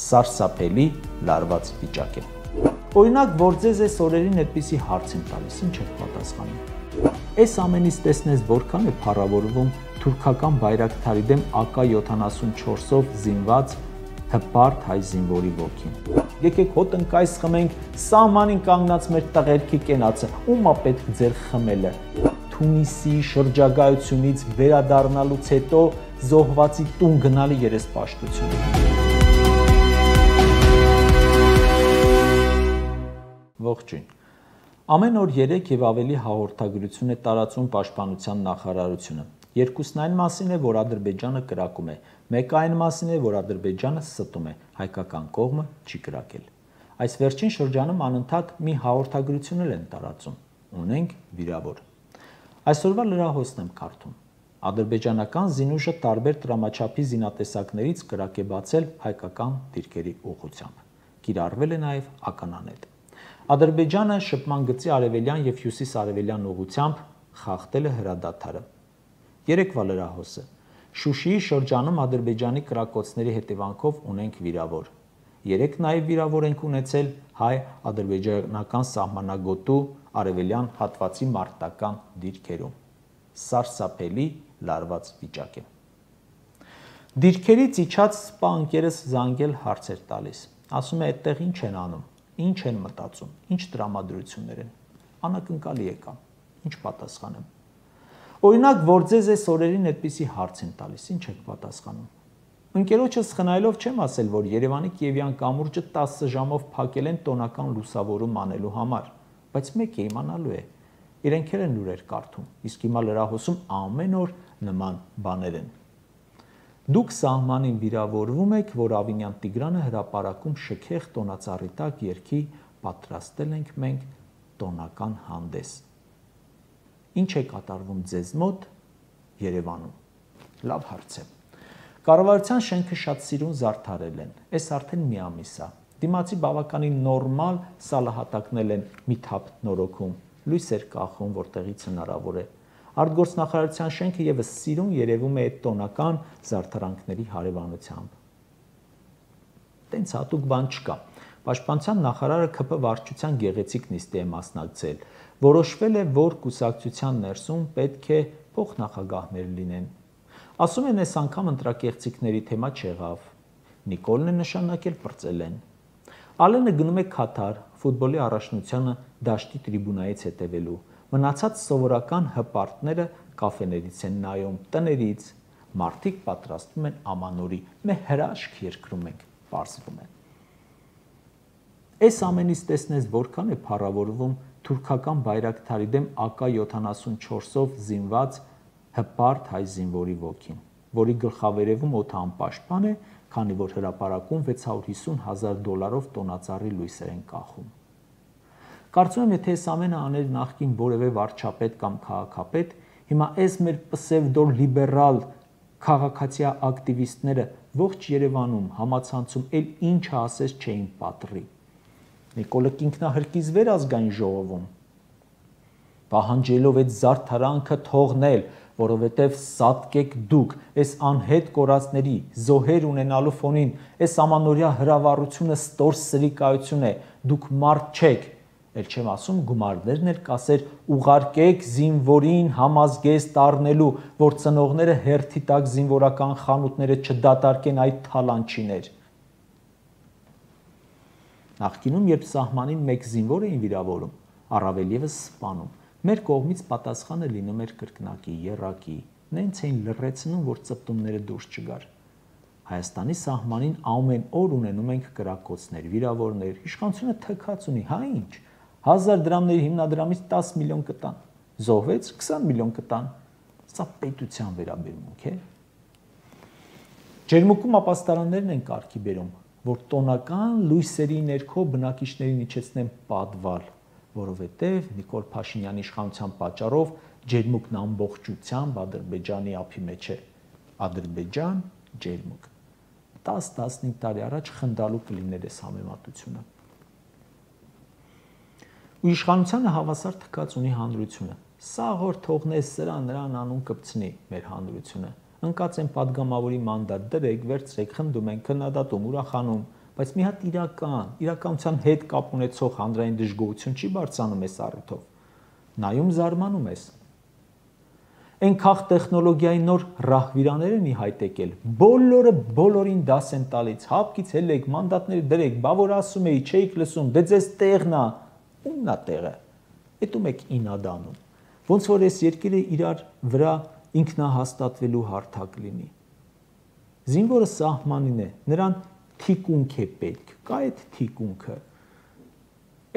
Սարսափելի լարված վիճակ է։ Օրինակ, որ ձեզ այս օրերին այդպիսի հարց եմ տալիս, ինչ եք պատասխանում։ Այս ամենից տեսնես որքան է փառավորվում թուրքական բայրակթարի դեմ AK-74-ով զինված հպարտ հայ զինվորի ոգին։ Եկեք հոտ ընկայս խմենք, սահմանին կանգնած մեր տղերքի կենացը, ում է պետք ձեր խմելը։ Թունիսի շրջագայությունից վերադառնալուց հետո զոհվածի տուն գնալի երեսպաշտություն։ Ողջույն։ Ամեն օր 3 եւ ավելի հաղորդագրություն է տարածում Պաշտպանության նախարարությունը։ Երկուսն այն մասին է, որ Ադրբեջանը կրակում է, մեկը այն մասին է, որ Ադրբեջանը ստում է, հայկական կողմը չի կրակել։ Այս վերջին շրջանում անընդհատ մի հաղորդագրություն են տարածում։ Ունենք վիրավոր։ Այսօրվա լրահոսն եմ կարդում։ Ադրբեջանական զինուժը տարբեր տրամաչափի զինատեսակներից կրակ է բացել հայկական դիրքերի ուղղությամբ։ Կիրառվել է նաև ականանետ։ Ադրբեջանը շփման գծի արևելյան եւ հյուսիս-արևելյան ուղղությամբ խախտել է հրադադարը։ Երեկվա լրահոսը։ Շուշիի շրջանում Ադրբեջանի կրակոցների հետևանքով ունենք վիրավոր։ Երեք նաև վիրավոր ենք ունեցել հայ-ադրբեջանական սահմանագոտու արևելյան հատվածի մարտական դիրքերում։ Սարսափելի լարված վիճակ է։ Դիրքերից իջած սպա ընկերս զանգել հարցեր տալիս։ Ասում է այդտեղ ինչ են անում, ինչ են մտածում, ինչ տրամադրություններ են։ Անակնկալի եկամ, ինչ պատասխանեմ։ Օրինակ, որ ձեզ այս օրերին այդպիսի հարց եմ տալիս, ինչ եք պատասխանում։ Ընկերոջս խնայելով չեմ ասել, որ Երևանի Կիևյան կամուրջը 10 ժամով փակել են տոնական լուսավորում անելու համար, բայց մեկ է իմանալու է, իրենք էլ են լուրեր կարդում, իսկ հիմա լրահոսում ամեն օր նման բաներ են։ Դուք սահմանին վիրավորվում եք, որ Ավինյան Տիգրանը հրապարակում շքեղ տոնածառի տակ երգի պատրաստել ենք մենք տոնական հանդես։ Ինչ է կատարվում ձեզ մոտ Երևանում։ Լավ հարց է։ Կառավարության շենքը շատ սիրուն զարդարել են։ Այս արդեն մի ամիս է։ Դիմացի բավականին նորմալ սալահատակնել են մի թափ նորոգում, լույսեր կախում, որտեղից հնարավոր է։ Արտգործնախարարության շենքը եւս սիրուն երևում է այդ տոնական զարդարանքների հարևանությամբ։ Տենց հատուկ բան չկա։ Պաշտպանության նախարարը ԿՓ վարչության գեղեցիկ նիստի է մասնակցել։ Որոշվել է, որ կուսակցության ներսում պետք է փոխնախագահներ լինեն։ Ասում են, այս անգամ ընտրակեղծիքների թեմա չեղավ։ Նիկոլն է նշանակել պրծել են։ Ալենը գնում է Քաթար, ֆուտբոլի առաջնությանը դաշտի տրիբունայից հետևելու։ Մնացած սովորական հպարտները կաֆեներից են նայում, տներից։ Մարդիկ պատրաստվում են ամանորի, մեր հրաշք երկրում ենք, պարզվում է։ Այս ամենից տեսնես որքան է փառավորվում թուրքական բայրակթարի դեմ AK-74-ով զինված հպարտ հայ զինվորի ոգին, որի գլխավերևում օդը անպաշտպան է, քանի որ հրապարակում $650,000 տոնածառի լույսեր են կախում։ Կարծում եմ, եթե այս ամենը աներ նախկին որևէ վարչապետ կամ քաղաքապետ, հիմա այս մեր պսևդոլիբերալ քաղաքացիա ակտիվիստները ողջ Երևանում համացանցում էլ ինչը ասես չէին պատռի։ Նիկոլը ինքնահրկիզ վեր ազգային ժողովում, պահանջելով այդ զարդարանքը թողնել, որովհետև սատկեք դուք, այս անհետ կորածների, զոհեր ունենալու ֆոնին, այս ամանորյա հրավառությունը ստոր սրիկայություն է, դուք մարդ չեք, էլ չեմ ասում գումարներն էլ կասեր ուղարկեք զինվորին համազգեստ առնելու, որ ծնողները հերթի տակ զինվորական խանութները չդատարկեն այդ թալանչիներ։ Նախկինում, երբ սահմանին մեկ զինվոր էին վիրավորում, առավել ևս սպանում, մեր կողմից պատասխանը լինում էր կրկնակի, եռակի, նենց էին լռեցնում, որ ծպտումները դուրս չգար։ Հայաստանի սահմանին ամեն օր ունենում ենք կրակոցներ, վիրավորներ, իշխանությունը թքած ունի, հա ինչ, 1000 դրամների հիմնադրամից 10 միլիոն կտան, զոհվեց 20 միլիոն կտան, սա պետության վերաբերմունք է։ Ջերմուկում ապաստարաններն են կարգի բերում, որ տոնական լույսերի ներքո բնակիչներին իջեցնեն պատվալ, որովհետև Նիկոլ Փաշինյանի իշխանության պատճառով ջերմուկն ամբողջությամբ Ադրբեջանի ափի մեջ է։ Ադրբեջան, ջերմուկ։ 10-15 տարի առաջ խնդալու կլիներ այս համեմատությունը։ Ու իշխանությանը հավասար թքած ունի հանրությունը։ Սաղ օր թողնես սրան նրան անուն կպցնի մեր հանրությունը։ Ընկած են падգամավորի մանդատ, դրեք, վերցրեք, խնդում են, քննադատում, ուրախանում, բայց մի հատ իրականության հետ կապ ունեցող հանրային դժգոհություն չի բարձրանում այս առիթով։ Նայում զարմանում ես։ Այն քաղ տեխնոլոգիայի նոր ռահվիրաներ են ի հայտ եկել, բոլորը բոլորին դաս են տալիս, հապկից հելեք, մանդատները դրեք, բա որ ասում էի, չէիք լսում, դե ձեզ տեղն է, ումն է տեղը, էտում եք ինադանում, ոնց որ այս երկիրը իրար վրա ինքնահաստատվելու հարթակ լինի։ Զինվորը սահմանին է, նրան թիկունք է պետք, կա այդ թիկունքը։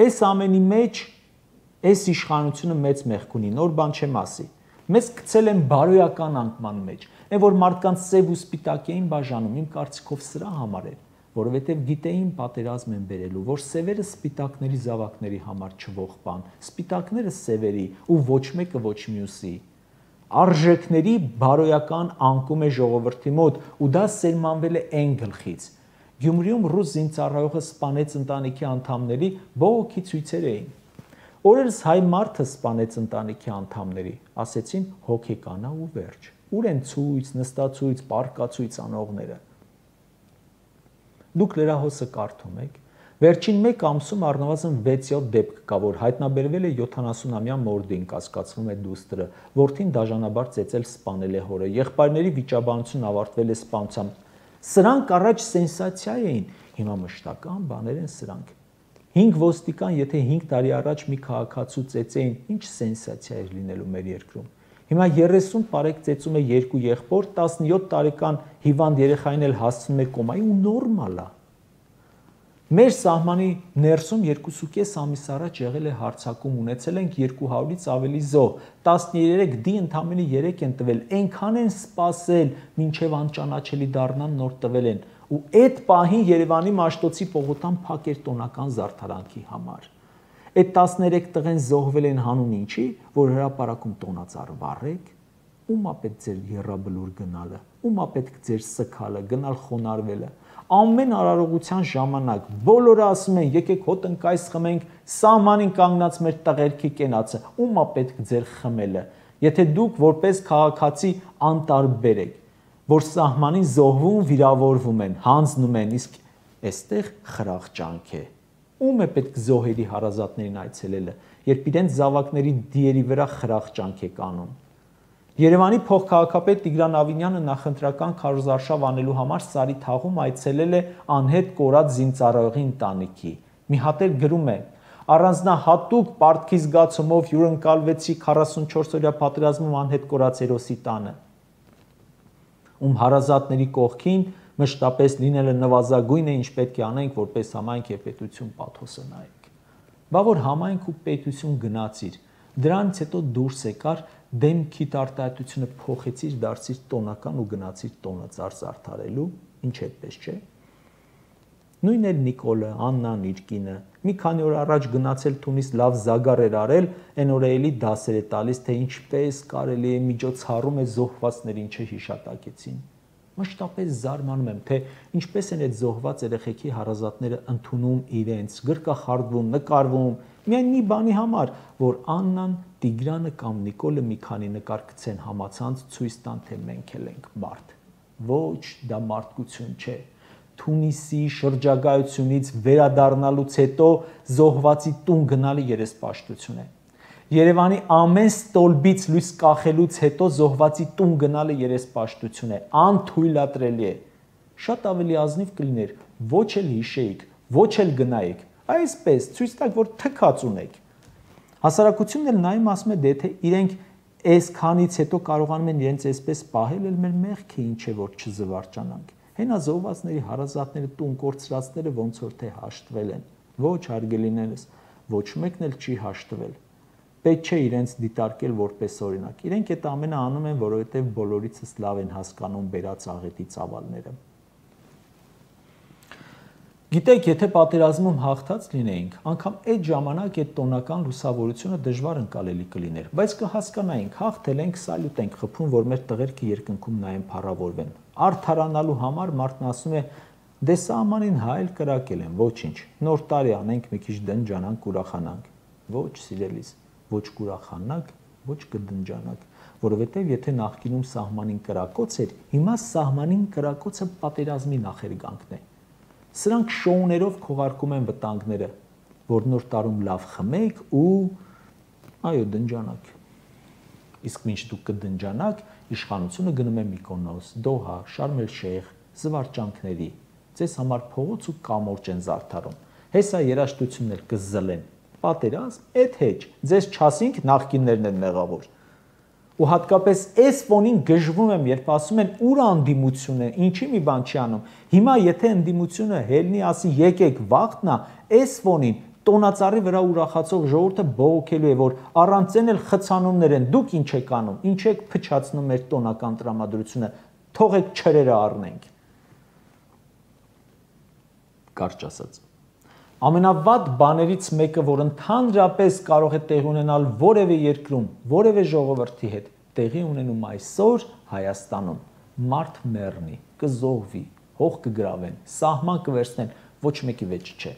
Այս ամենի մեջ, այս իշխանությունը մեծ մեղք ունի, նոր բան չեմ ասի։ Մեզ գցել են բարոյական անկման մեջ, այն որ մարդկանց սև ու սպիտակ էին բաժանում, իմ կարծիքով սրա համար էր, որովհետև գիտեին պատերազմ են բերելու, որ սևերը սպիտակների զավակների համար չվող բան, սպիտակները սևերի ու ոչ մեկը ոչ մյուսի։ Արժեքների բարոյական անկում է ժողովրդի մոտ ու դա սերմանվել է այն գլխից։ Գյումրիում ռուս զինծառայողը սպանեց ընտանիքի անդամների բողոքի ցույցեր էին։ Օրերս հայ մարդը սպանեց ընտանիքի անդամների, ասեցին հոգեկանա ու վերջ։ Ուր են ցույց, նստացույց, պարկացույց անողները։ Դուք լրահոսը կարդում եք։ Վերջին մեկ ամսում առնվազն 6-7 դեպք կա, որ հայտնաբերվել է 70-ամյա մորդին, կասկածվում է դուստրը, որդին դաժանաբար ծեծել սպանել է հորը, եղբայրների վիճաբանությունն ավարտվել է սպանությամբ։ Սրանք առաջ սենսացիա էին, հիմա մշտական բաներ են սրանք։ 5 ոստիկան, եթե 5 տարի առաջ մի քաղաքացու ծեծեին, ինչ սենսացիա էր լինելու մեր երկրում։ Հիմա 30 տարեկան ծեծում է 2 եղբոր, 17 տարեկան հիվանդ երեխային էլ հասցնում է կոմայի ու նորմալ է։ Մեր սահմանի ներսում 2.5 ամիս առաջ եղել է հարձակում, ունեցել ենք 200-ից ավելի զոհ, 13 դի ընդամենը 3 են տվել, այնքան են սպասել, մինչև անճանաչելի դառնան նոր տվել են, ու այդ պահին Երևանի Մաշտոցի պողոտան փակ էր տոնական զարդարանքի համար։ Այդ 13 տղեն զոհվել են հանուն ինչի, որ հրապարակում տոնածառ վառեք, ում է պետք ձեր եռաբլուր գնալը, ում է պետք ձեր սքալը, գնալ խոնարհվելը։ Ամեն արարողության ժամանակ բոլորը ասում են եկեք հոտ ընկայս խմենք, սահմանին կանգնած մեր տղերքի կենացը, ում է պետք ձեր խմելը։ Եթե դուք որպես քաղաքացի անտարբեր եք, որ սահմանին զոհվում, վիրավորվում են, հանձնում են, իսկ այստեղ խրախճանք է։ Ում է պետք զոհերի հարազատներին այցելելը, երբ իրենց զավակների դիերի վրա խրախճանք է կանում։ Երևանի փոխքաղաքապետ Տիգրան Ավինյանը նախընտրական քարոզարշավ անելու համար Սարի թաղում այցելել է անհետ կորած զինծառայողի ընտանիքի։ Մի հատ էլ գրում է. առանձնահատուկ պարտքի զգացումով հյուրընկալվեցի 44-օրյա պատերազմում անհետ կորած հերոսի տանը, ում հարազատների կողքին մշտապես լինելը նվազագույն է, ինչ պետք է անենք, որպես համայնք եւ պետություն պաթոսը նայենք։ Բա որ համայնք ու պետություն գնացիր, դրանից հետո դուրս եկար, դեմքիդ արտահայտությունը փոխեցիր, դարձիր տոնական ու գնացիր տոնածառ զարդարելու, ինչ այդպես չէ։ Նույն էլ Նիկոլը, Աննան, իր կինը, մի քանի օր առաջ գնացել տունից լավ զագար էր արել, այն օրը էլի դասեր է տալիս, թե ինչպես կարելի է միջոցառում է զոհվածներին չհիշատակեցին։ Մշտապես զարմանում եմ, թե ինչպես են այդ զոհված երեխեքի հարազատները ընդունում իրենց, գրկախառդվում, նկարվում, միայն մի բանի համար, որ Աննան, Տիգրանը կամ Նիկոլը մի քանի նկար գցեն համացանց, ցույց տան, թե մենք էլ ենք մարդ։ Ոչ, դա մարդկություն չէ։ Թունիսի շրջագայությունից վերադառնալուց հետո զոհվածի տուն գնալը երեսպաշտություն է։ Երևանի ամեն ստոլբից լույս կախելուց հետո զոհվածի տուն գնալը երեսպաշտություն է, անթույլատրելի է։ Շատ ավելի ազնիվ կլիներ, ոչ էլ հիշեիք, ոչ էլ գնայիք, այսպես ցույց տակ, որ թքած ունեք։ Հասարակությունն էլ նայում ասում է, դե թե իրենք այսքանից հետո կարողանում են իրենց այսպես պահել, էլ մեր մեղքը ինչ է, որ չզվարճանանք։ Հենա զոհվածների հարազատները տուն կորցրածները ոնց որ թե հաշտվել են։ Ոչ, հարգելիներս, ոչ մեկն էլ չի հաշտվել։ Պետք չէ իրենց դիտարկել որպես օրինակ։ Իրենք այդ ամենը անում են, որովհետև բոլորիցս լավ են հասկանում բերած աղետի ծավալները։ Գիտեք, եթե պատերազմում հաղթած լինեինք, անգամ այդ ժամանակ այդ տոնական լուսավորությունը դժվար ընկալելի կլիներ, բայց կհասկանայինք, հաղթել ենք, սալյուտ ենք խփում, որ մեր տղերքը երկնքում նայեն փառավորվեն։ Արդարանալու համար մարդն ասում է, դե սահմանին հայել կրակել են, ոչինչ, նոր տարի անենք, մի քիչ դնջանանք, ուրախանանք։ Ոչ, սիրելիս, ոչ կուրախանանք, ոչ կդնջանանք, որովհետև եթե նախկինում սահմանին կրակոց էր, հիմա սահմանին կրակոցը պատերազմի նախերգանքն է։ Սրանք շոուներով քողարկում են վտանգները, որ նոր տարում լավ խմեք ու այո դնջանակ։ Իսկ մինչ դուք կդնջանաք, իշխանությունը գնում է Միկոնոս, Դոհա, Շարմ էլ-Շեյխ, զվարճանքների, ձեզ համար փողոց ու կամորճ են զարդարում։ Հեսա երաժշտությունն էլ կզլեն։ Պատերազմ, այդ հեչ, ձեզ չասինք նախկիններն են մեղավոր։ Ու հատկապես այս ֆոնին գժվում եմ, երբ ասում են ուր անդիմությունը, ինչի մի բան չի անում։ Հիմա եթե ընդդիմությունը հելնի ասի եկեք վախտնա, այս ֆոնին տոնածառի վրա ուրախացող ժողովուրդը բողոքելու է, որ առանց այն էլ խցանումներ են, դուք ինչ եք անում, ինչ եք փչացնում մեր տոնական տրամադրությունը, թողեք չրերը առնենք։ Կարճ ասած։ Ամենավատ բաներից մեկը, որ ընդհանրապես կարող է տեղի ունենալ որևէ երկրում, որևէ ժողովրդի հետ, տեղի ունենում այսօր Հայաստանում, մարդ մեռնի, կզոհվի, հող կգրավեն, սահման կվերցնեն, ոչ մեկի վեճ չէ։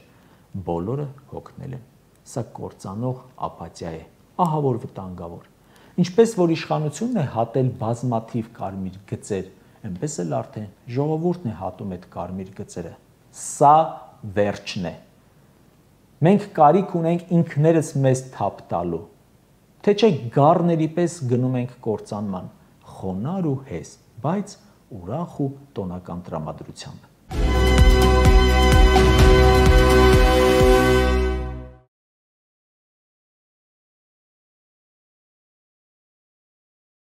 Բոլորը հոգնել են։ Սա կործանող ապաթիա է, ահա որ վտանգավոր։ Ինչպես որ իշխանությունն է հատել բազմաթիվ կարմիր գծեր, այնպես էլ արդեն ժողովուրդն է հատում այդ կարմիր գծերը։ Սա վերջն է։ Մենք կարիք ունենք ինքներս մեզ թափ տալու, թե չէ գառների պես գնում ենք կործանման, խոնար ու հեզ, բայց ուրախ ու տոնական տրամադրությամբ։